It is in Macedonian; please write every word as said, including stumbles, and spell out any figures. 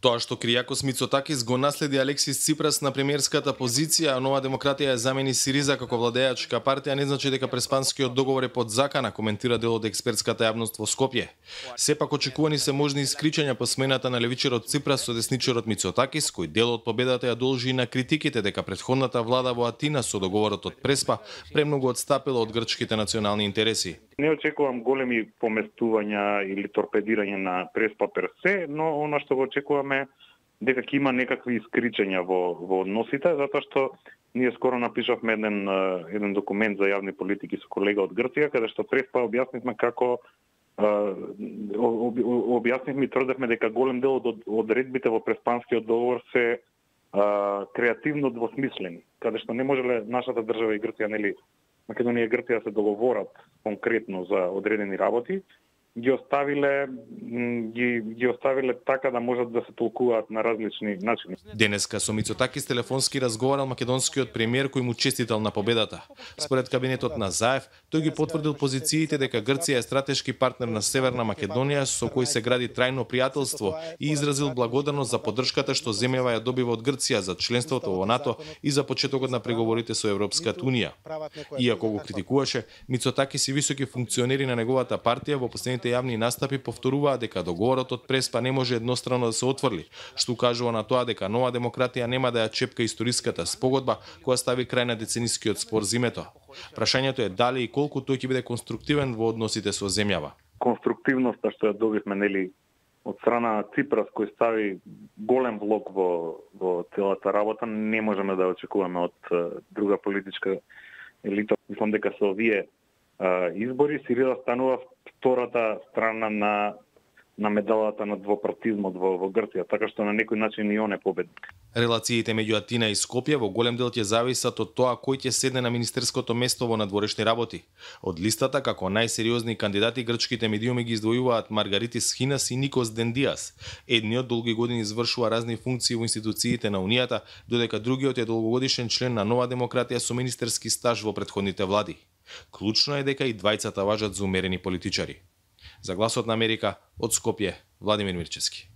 Тоа што Кријакос Мицотакис го наследи Алексис Ципрас на премиерската позиција, а Нова демократија ја замени Сириза како владеачка партија, не значи дека преспанскиот договор е под закана, коментира дел од експертската јавност во Скопје. Сепак очекувани се можни искричања по смената на левичерот Ципрас со десничерот Мицотакис, кој дел од победата ја должи и на критиките дека претходната влада во Атина со договорот од Преспа премногу одстапила од грчките национални интереси. Не очекувам големи поместувања или торпедирање на Преспа персе, но она што го очекуваме дека ќе има некакви искричања во во односите, затоа што ние скоро напишавме еден еден документ за јавни политики со колега од Грција, каде што Преспа објаснивме како објаснивме и тврдевме дека голем дел од одредбите во Преспанскиот договор се а, креативно двосмислени, каде што не можеле нашата држава и Грција, нели, Македонија и Грција се договорат конкретно за одредени работи, ги оставиле ги ги оставиле така да можат да се толкуваат на различни начини. Денеска со Мицотакис телефонски разговарал македонскиот премиер кој му честитал на победата. Според кабинетот на Заев, тој ги потврдил позициите дека Грција е стратешки партнер на Северна Македонија со кој се гради трајно пријателство и изразил благодарност за поддршката што земјава ја добива од Грција за членството во НАТО и за почетокот на преговорите со Европската унија. Иако го критикуваше, Мицотакис и високи функционери на неговата партија во последните јавни настапи повторуваа дека договорот од Преспа не може еднострано да се отврли, што укажува на тоа дека Нова демократија нема да ја чепка историската спогодба која стави крај на деценискиот спор зимето. Прашањето е дали и колку тој ќе биде конструктивен во односите со земјава. Конструктивноста што ја добивме, нели, од страна на Ципрас, кој стави голем влог во во целата работа, не можеме да очекуваме од друга политичка елита. Мислам дека со овие избори Сириза станува втората страна на на медалата на двопартизмот во, во Грција, така што на некој начин и он е победник. Релациите меѓу Атина и Скопје во голем дел ќе зависат од тоа кој ќе седне на министерското место во надворешни работи. Од листата како најсериозни кандидати грчките медиуми ги издвојуваат Маргаритис Хинас и Никос Дендиас. Едниот долги години извршува разни функции во институциите на Унијата, додека другиот е долгогодишен член на Нова демократија со министерски стаж во претходните влади. Клучно е дека и двајцата важат за умерени политичари. За Гласот на Америка, од Скопје, Владимир Мирчевски.